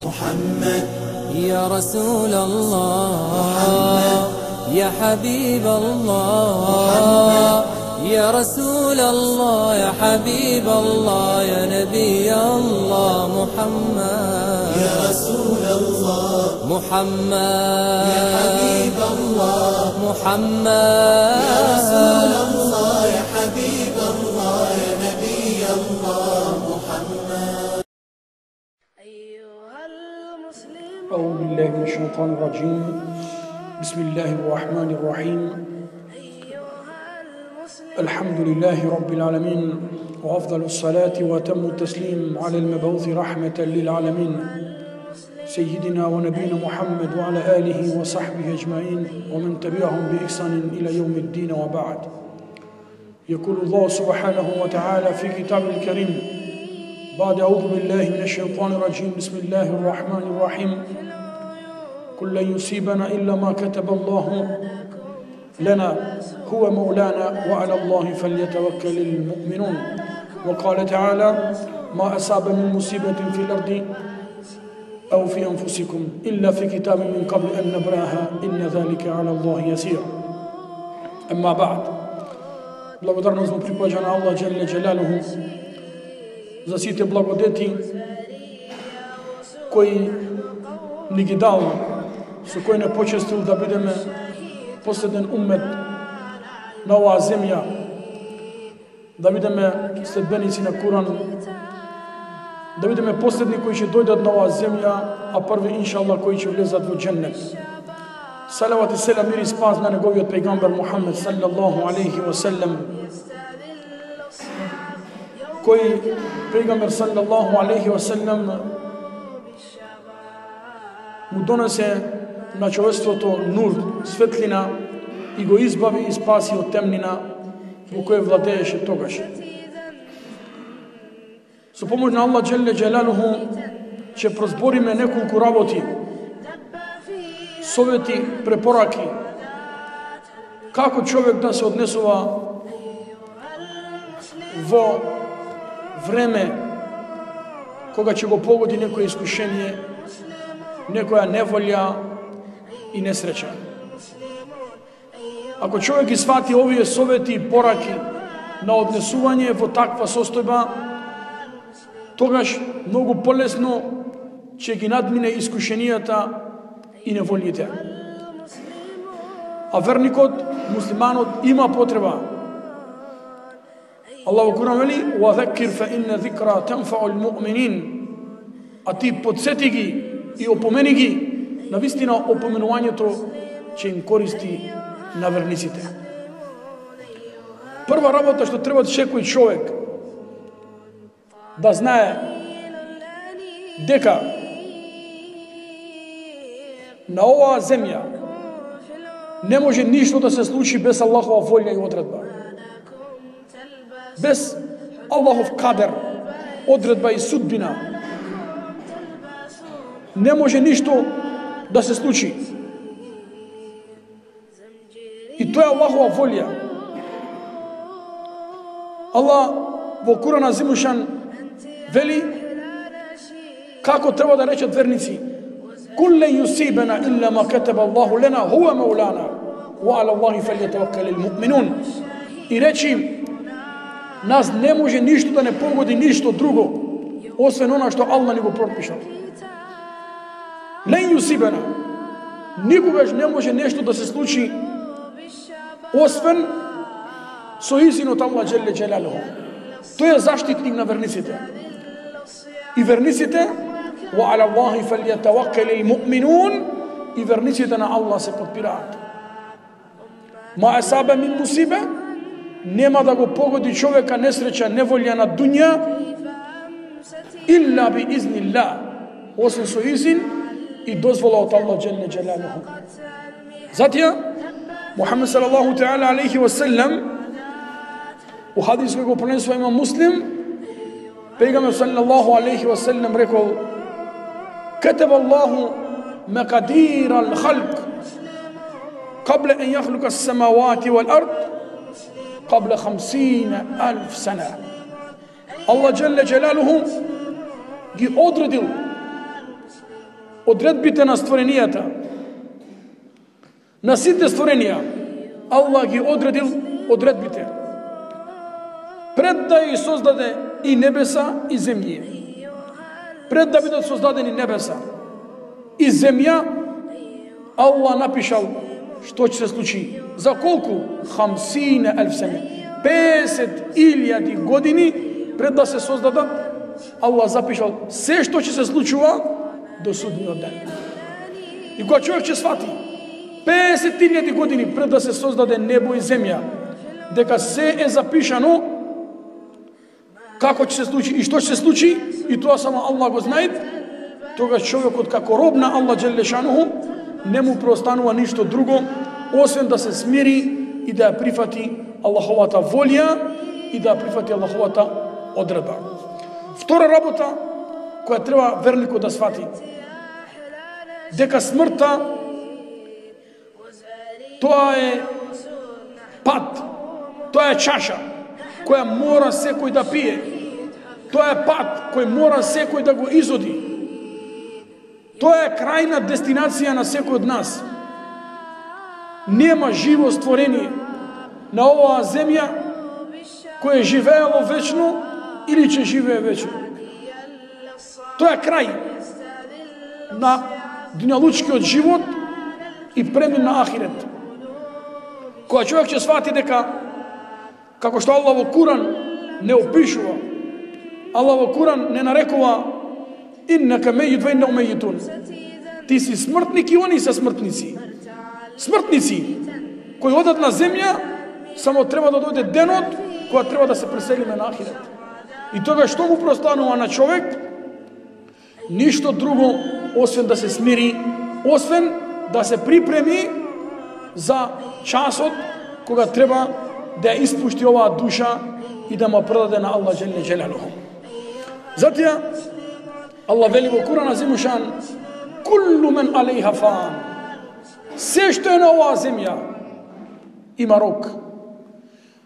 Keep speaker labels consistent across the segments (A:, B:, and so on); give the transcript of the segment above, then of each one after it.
A: محمد
B: يا رسول الله يا حبيب الله يا رسول الله يا حبيب الله يا نبي الله محمد
A: يا رسول الله
B: محمد
A: يا حبيب الله
B: محمد
A: يا رسول الله يا حبيب الله يا نبي الله محمد.
C: أيها المسلمون
D: أعوذ بالله من الشيطان الرجيم. بسم الله الرحمن الرحيم. الحمد لله رب العالمين، وأفضل الصلاة وأتم التسليم على المبعوث رحمة للعالمين سيدنا ونبينا محمد وعلى آله وصحبه أجمعين ومن تبعهم بإحسان إلى يوم الدين، وبعد. يقول الله سبحانه وتعالى في كتابه الكريم بعد أعوذ بالله من الشيطان الرجيم. بسم الله الرحمن الرحيم. قل لن يصيبنا إلا ما كتب الله لنا هو مولانا وعلى الله فليتوكل المؤمنون. وقال تعالى ما أصاب من مصيبة في الأرض أو في أنفسكم إلا في كتاب من قبل أن نبرأها إن ذلك على الله يسير. أما بعد، благодарност му припаѓа на Аллах Джелле Джелалуху за сите благодети кои ни ги дал, со кои не почестил да бидеме последен уммет на оваа земја, да бидеме следбеници на Куран, да бидеме последни кои ќе дојдат на оваа земја, а први иншаллах кои ќе влезат во дженнет. Салават и селам, мир и спас на неговиот пејгамбер Мухаммед саллаллаху алейхи ва селем, кој пејгамбер саллаллаху алейхи ва селем му донесе на човештвото нур, светлина, и го избави и спаси од темнина во која владееше тогаш. Со помоќ на Аллах Джелле Джелалуху ќе прозбориме неколку работи, совети, препораки, како човек да се однесува во време кога ќе го погоди некој искушение, некоја неволја и несреќа. Ако човек ги свати овие совети и пораки на однесување во таква состојба, тогаш многу полесно ќе ги надмине искушенијата и неволите. А верникот, муслиманот, има потреба. Аллах во Куран вели: "Вазакир фа инна зикра танфаул муъминин." А ти подсети ги и опомени ги, навистина опоменувањето ќе им користи на верниците. Прва работа што треба секој човек да знае дека на оваа земја не може ништо да се случи без Аллахова волја и одредба. Без Аллахов кадер, одредба и судбина не може ништо да се случи. И тоа е Аллахова волја. Аллах во Куран Азимушан вели како треба да речат верници: "Кул лен юсибена илля ма катаба Аллаху лена хуа маулана ва ала Аллахи фалјатаваккалил муъминун." И речи: нас не може ништо да не погоди, ништо друго, освен она што Аллах ни го пропишал. Лен юсибена, никогаш не може нешто да се случи освен со изинот Аллах Джелле Джелалуху. Тој е заштитник на верниците. И верниците, ва ала Аллахи фалјатаваккалил муъминун, и верниците на Аллах се подпираат. Ма асаба мин мусибе, нема да го погоди човека несреќа, неволја на дуња, илла би изнилlah, освен со изин и дозвола од Аллах Джелле Джелалуху. Затоа Мухаммед салаллаху таала алейхи ва селем у хадис кој го пренесува имам Муслим, пејгамбер салаллаху алейхи ва селем рекол: "Катаба Аллаху макадир ал-халq قبل أن يخلق السماوات والأرض قبل 50,000 سنة." الله جل جلاله ги одредил одредбите на створенијата, на сите створенија, Аллах ги одредил одредбите. Пред да ги создаде и небеса и земји. Пред да бидат создадени небеса и земја, Аллах напишал што ќе се случи. За колку? 50,000 сene. 50,000 години пред да се создадат, Аллах запишал се што ќе се случува до судниот ден. И кога човек ќе свати 50,000 години пред да се создаде небо и земја, дека се е запишано како ќе се случи и што ќе се случи, и тоа само Аллах го знае, тогаш човекот како роб на Аллах џеле шануху не му преостанува ништо друго освен да се смири и да ја прифати Аллаховата волја и да ја прифати Аллаховата одредба. Втора работа која треба верникот да свати, дека смртта тоа е пат, тоа е чаша која мора секој да пие. Тоа е пат кој мора секој да го изоди. Тоа е крајна дестинација на секој од нас. Нема живо створение на оваа земја кое живеело вечно или ќе живее вечно. Тоа е крај на дуњалучкиот живот и премин на ахирет. Кога човек ќе свати дека, како што Аллах во Куран не опишува, Аллах во Куран не нарекува иннака мејит ва иннахум мејитун. Ти си смртник и они се смртници. Смртници кои одат на земја, само треба да дојде денот кога треба да се преселиме на ахирет. И тога што му простанува на човек? Ништо друго освен да се смири, освен да се припреми за часот кога треба да ја испушти оваа душа и да му предаде на Аллах џеле џелалуху. Затоа Аллах вели во Куран азимушан: куллу мен алейха фан. Се што е на оваа земја има рок.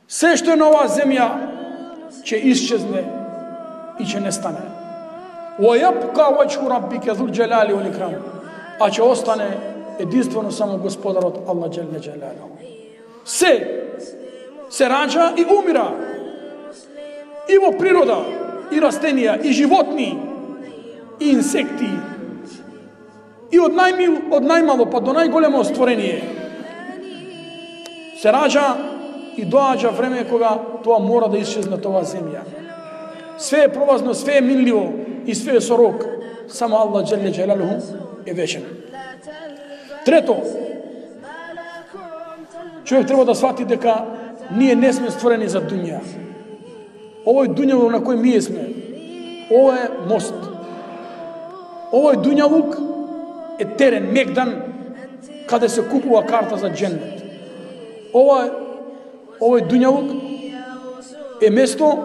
D: Се што е на оваа земја ќе исчезне и ќе нестане. Wa yabqa wajhu rabbika dhul jalali wal ikram. А ќе остане единствено само Господарот Аллах џеле џелалуху. Се раѓа и умира. И во природа, и растенија, и животни, и инсекти. И од најмало па до најголемо створение. Се раѓа и доаѓа време кога тоа мора да исчезне тоа земја. Све е пролазно, све е минливо и све е со рок. Само Аллах џеле џелалуху е вечен. Трето, човек треба да свати дека ние не сме створени за дуња. Овој дуњалук на кој ние сме, ова е мост. Овој дуњалук е терен, мегдан, каде се купува карта за џеннет. Овој дуњалук е место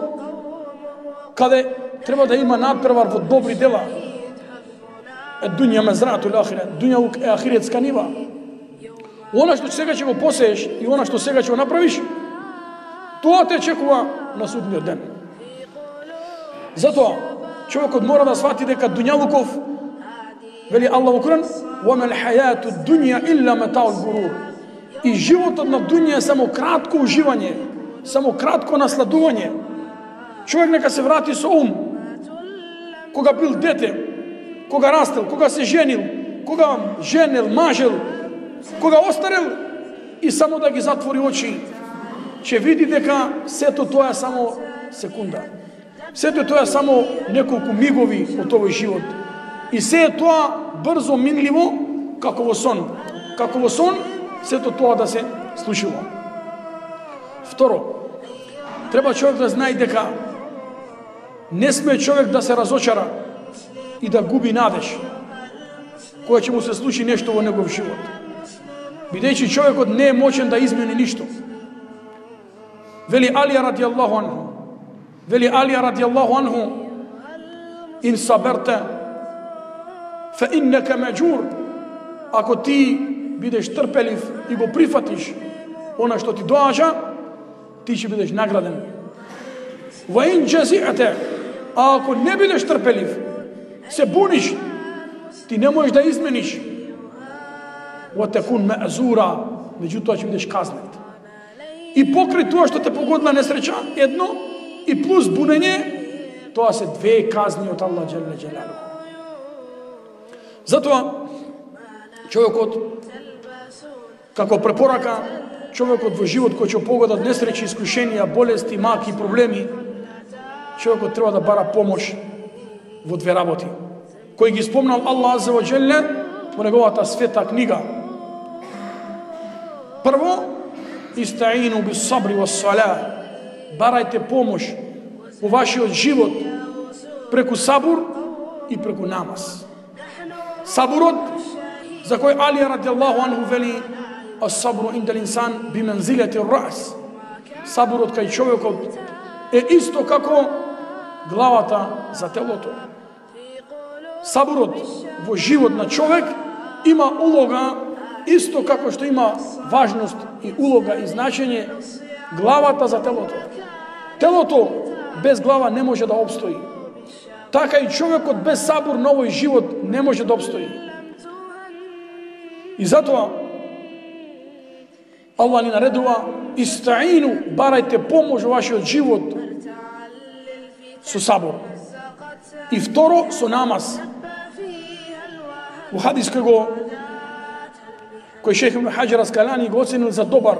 D: каде треба да има надпревар во добри дела. Дуња мезратул ахирет. Дуњалук е ахиретска нива. Она што сега ќе го посееш и она што сега ќе го направиш, тоа те чекува на судниот ден. Затоа човекот мора да свати дека дуњалуков, вели Аллах во Куран: "Ва мал хаяту дуња илла матаул гурур." И животот на дуња е само кратко уживање, само кратко насладување. Човек нека се врати со ум. Кога бил дете, кога растел, кога се женил, кога женел, мажел, кога остарел, и само да ги затвори очи, ќе види дека сето тоа е само секунда. Сето тоа е само неколку мигови од овој живот. И се е тоа брзо минливо, како во сон. Како во сон, сето тоа да се случува. Второ, треба човек да знае дека не сме човек да се разочара и да губи надеж кога ќе му се случи нешто во негов живот. Бидејќи човекот не е моќен да измени ништо. Вели Алија радијаллаху анху: "Ин саберте фе иннека меđур." Ако ти бидеш трпелив и го прифатиш она што ти доаѓа, ти ќе бидеш награден. "Ва ин џази'те", а ако не бидеш трпелив, се буниш Ти не можеш да измениш. وَتَكُنْ مَأْزُورًا, меѓутоа ќе бидеш казнет. И покрај тоа што те погодила несреќа, едно, и плюс бунење, тоа се две казни од Аллах Джелле Джелалуху. Затоа, човекот, како препорака, човекот во живот кој ќе погодат несреќи, искушенија, болести, маки, проблеми, човекот треба да бара помош во две работи, кој ги спомнал Аллах Азza ва Джелле во неговата света книга. Прво, истаину бис сабри вас сала, барајте помош во вашиот живот преку сабур и преку намаз. Сабурот, за кој Али радијаллаху анху вели, as-sabru inda al-insan bi manzilati ar-ra's. Сабурот кај човекот е исто како главата за телото. Сабурот во живот на човек има улога исто како што има важност и улога и значење главата за телото. Телото без глава не може да опстои. Така и човекот без сабур на овој живот не може да опстои. И затоа Аллах ни наредува: истаину, барајте помош во вашиот живот со сабур. И второ, со намаз. Во хадис кој Шех Ибн Хаџар Аскалани го оценил за добар.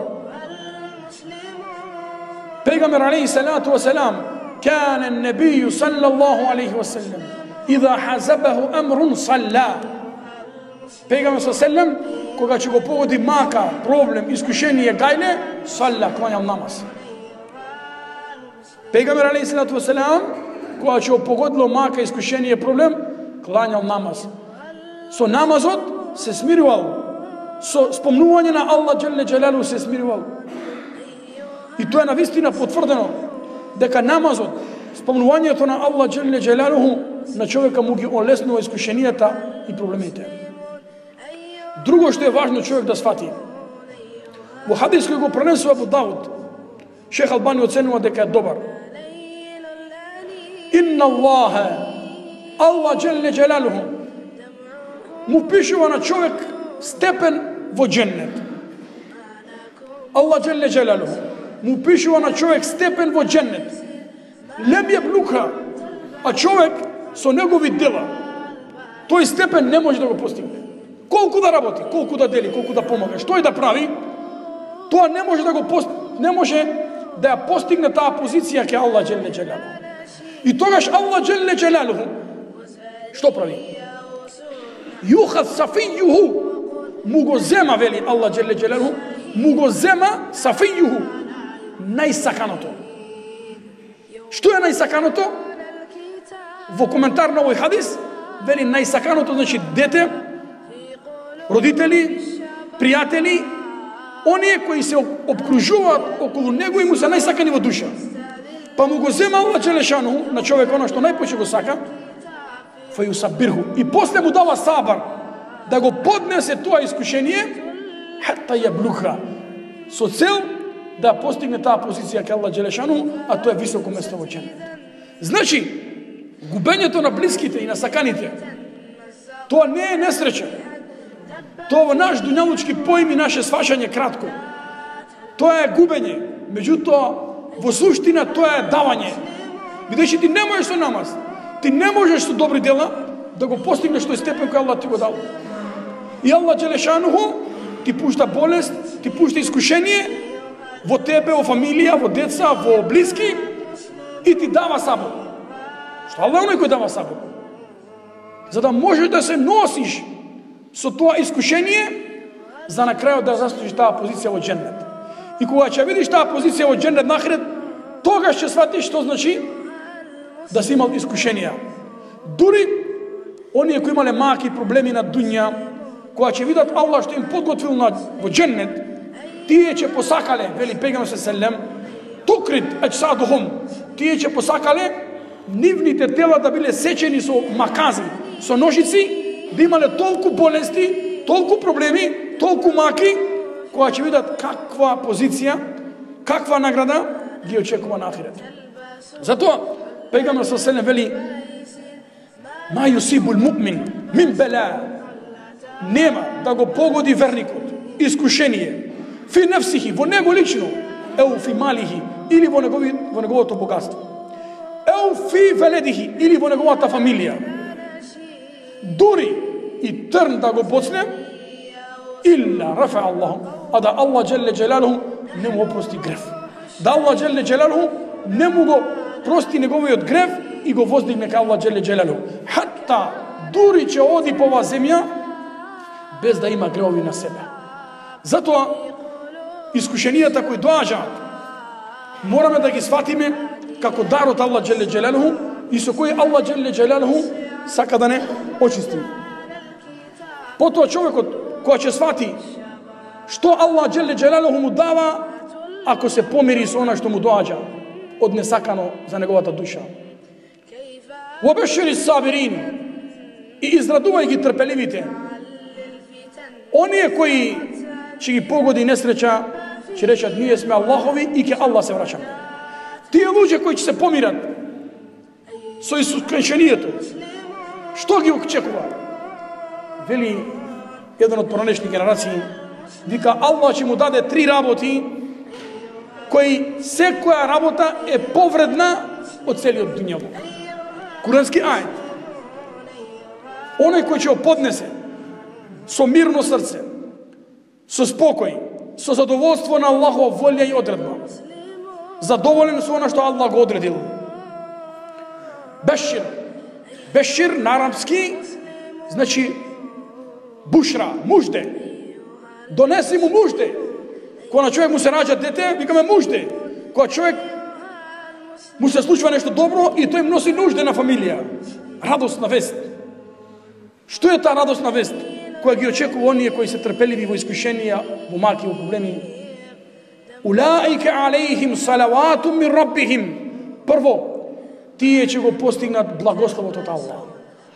D: Пегамбер алейхи салату ва салам, кана небију саллаллаху алейхи ва салlam, идha хазабаху амрун салла. Пегамбер саллаллаху, кога ќе го погоди мака, проблем, искушение, гајле, салла, клањал намаз. Пегамбер алейхи салату ва салам, кога ќе го погодило мака, искушение, проблем, клањал намаз. Со намазот се смирувал, со спомнување на Аллах Джелле Джелалу се смирувал. И тоа е навистина потврдено, дека намазот, спомнувањето на Аллах Джелле Джелалу на човека му ги олеснува искушенијата и проблемите. Друго што е важно човек да свати. Во хадис кој го пренесува Абу Дауд, Шех Албани оценува дека е добар. Инна Аллаха, Аллах Джелле Джелалу му пишува на човек степен во дженнет. Аллах Джелле Джелалу му пишува на човек степен во дженнет. Лем ја блука, а човек со негови дела тој степен не може да го постигне. Колку да работи, колку да дели, колку да помага, што и да прави, тоа не може да го не може да ја постигне таа позиција ке Аллах Джелле Джелалу. И тогаш Аллах Джелле Джелалу што прави? Юхад сафијуху, му го зема, вели Аллах Джелле Джелалу, му го зема сафијуху, најсаканото. Што е најсаканото? Во коментар на овој хадис, вели најсаканото значи дете, родители, пријатели, оние кои се обкружуваат околу него и му се најсакани во душа. Па му го зема Аллах Джелешану на човек она што најпоќе го сака, фајусабирху, и после му дава сабар да го поднесе тоа искушение, хата ја блуха, со цел да постигне таа позиција ке Аллах Джелешану, а тоа е високо место во дженнет. Значи, губењето на блиските и на саканите, тоа не е несреќа. Тоа во наш дуњалучки поим и наше свашање кратко. Тоа е губење, меѓутоа во суштина тоа е давање. Бидејќи ти не можеш со намаз, ти не можеш со добри дела да го постигнеш тој степен кој Аллах ти го дал. И Аллах Джелешануху ти пушта болест, ти пушта искушение во тебе, во фамилија, во деца, во блиски и ти дава сабур. Што Аллах оној кој дава сабур? За да можеш да се носиш со тоа искушение, за на крајот да заслужиш таа позиција во дженнет. И кога ќе видиш таа позиција во дженнет нахред, тогаш ќе сватиш што значи да си имал искушенија. Дури оние кои имале маки проблеми на дуња, кога ќе видат Аллах што им подготвил во дженнет, тие ќе посакале, вели Пегамбер селем, тукрит аджсадухум, тие ќе посакале нивните тела да биле сечени со макази, со ножици, да имале толку болести, толку проблеми, толку маки, кога ќе видат каква позиција, каква награда ги очекува на ахирет. Затоа Пегамбер селем вели: ма юсибул му'мин мин бела, нема да го погоди верникот искушение фи нефсихи, во него лично, еу фи малихи, или во неговото богатство, еу фи веледихи, или во неговата фамилија, дури и трн да го боцне, илла рафа Аллах, а да Allah джелле джелалуху не му опрости грев, да Allah джелле джелалуху не му го прости неговиот грев и го воздигне ка Allah джелле джелалуху, хатта дури ќе оди по оваа земја без да има гревови на себе. Затоа искушенијата кои доаѓаат мораме да ги сватиме како дар од Allah джелле джелалуху и со кој Allah джелле джелалуху сака да не очисти. Потоа човекот кој ќе свати што Allah джелле джелалуху му дава ако се помири со она што му доаѓа од несакано за неговата душа. Вобешири сабирин, и израдувај ги трпеливите, оние кои ќе ги погоди несреќа, ќе речат ние сме Аллахови и ке Аллах се враќаме. Тие луѓе кои ќе се помират со искушението, што ги очекува? Вели еден од поранешни генерации, вика Аллах ќе му даде 3 работи кои секоја работа е повредна од целиот дуњавок. Курански ајет. Оној кој ќе го поднесе со мирно срце, со спокој, со задоволство на Аллахова волја и одредба, задоволен со она што Аллах го одредил. Бешир. Бешир на арапски значи бушра, мужде. Донеси му мужде. Кога на човек му се раѓа дете, викаме мужде. Кога човек му се случува нешто добро и тој носи нужде на фамилија. Радосна вест. Што е таа радосна вест која ги очекува оние кои се трпеливи во искушенија, во маки, во проблеми? Улаика алейхим салавату мин раббихим. Прво, тие ќе го постигнат благословот од Аллах.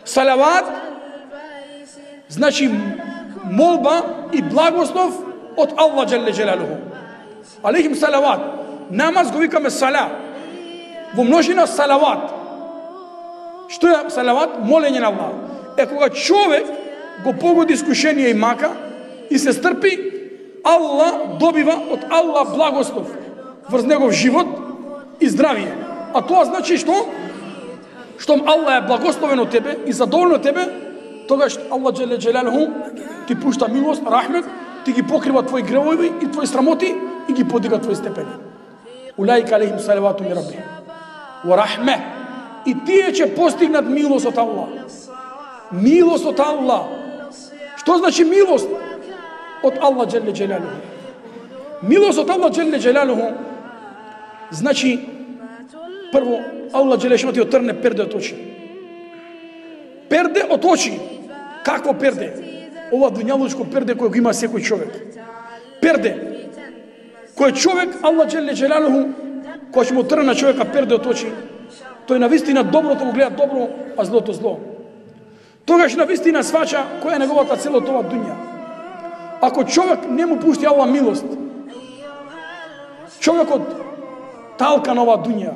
D: Салават значи молба и благослов од Аллах джелле джелалуху. Алейхим салават. Намаз го викаме сала. Во множина салават. Што е салават? Молење на Аллах. Е кога човек го погоди искушение и мака и се стрпи, Аллах добива од Аллах благослов врз негов живот и здравие. А тоа значи што? Штом Аллах е благословен од тебе и задоволен од тебе, тогаш Аллах джелле джелалуху ти пушта милост, рахмет, ти ги покрива твои гревови и твои срамоти и ги подига твои степени. Улаика алейхим салавату мин раббихим ва рахме. И тие ќе постигнат милост од Аллах. Милост од Аллах. Што значи милост од Аллах джелле джелалуху? Милост од Аллах джелле джелалуху значи прво Аллах джелле што ти отрне перде од очи. Перде од очи. Какво перде? Ова дуњалучко перде кој го има секој човек. Перде кој човек Аллах джелле джелалуху кој ќе му отрне на човека перде од очи, тој навистина доброто го гледа добро, а злото зло. Тогаш навистина сваќа која е неговата цел од ова дуња. Ако човек не му пушти Аллах милост, човекот талка на оваа дуња,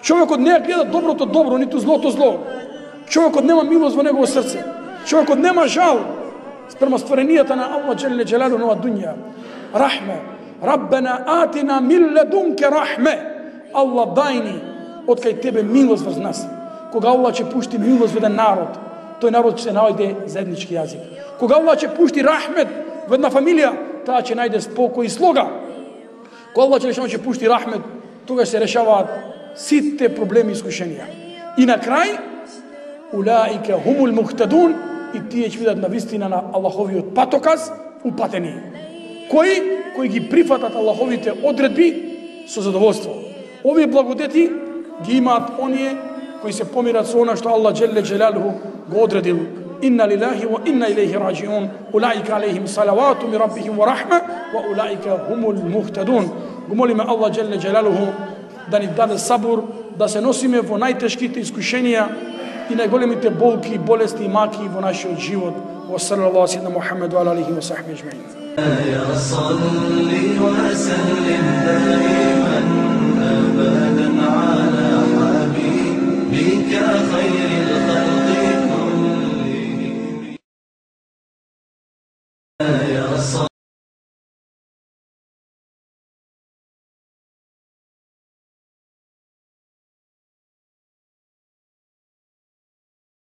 D: човекот не гледа доброто добро, ниту злото зло, човекот нема милост во негово срце, човекот нема жал спрема стваренијата на Аллах джелле джелалуху на оваа дуња. Рахме. Раббена атина мин ледунке рахме. Аллах дајни од кај тебе милост врз нас. Кога Аллах ќе пушти милост во еден народ, тој народ ќе се наоѓде заеднички јазик. Кога Аллах ќе пушти рахмет во една фамилија, таа ќе најде спокој и слога. Кога Аллах ќе пушти рахмет, тогаш се решаваат сите проблеми и искушенија. И на крај, улаика хумул мухтадун, и тие ќе видат навистина на Аллаховиот патоказ упатени. Кои ги прифатат Аллаховите одредби со задоволство. Овие благодети ги имаат оние кои се помират со она што Аллах джелле джелалуху го одредил. Инна лилахи ва инна илейхи раджиун. Улаика алейхим салавату мин раббихим ва рахма ва улаика хумул мухтадун. Го молиме Аллах джелле джелалуху да ни даде сабур, да се носиме во најтешките искушенија и најголемите болки, болести и маки во нашиот живот. Wa sallallahu sayyidina Muhammad wa alihi wa sahbihi ajma'in.
A: Ya salli wa sallim daiman abadan ala habibika khayr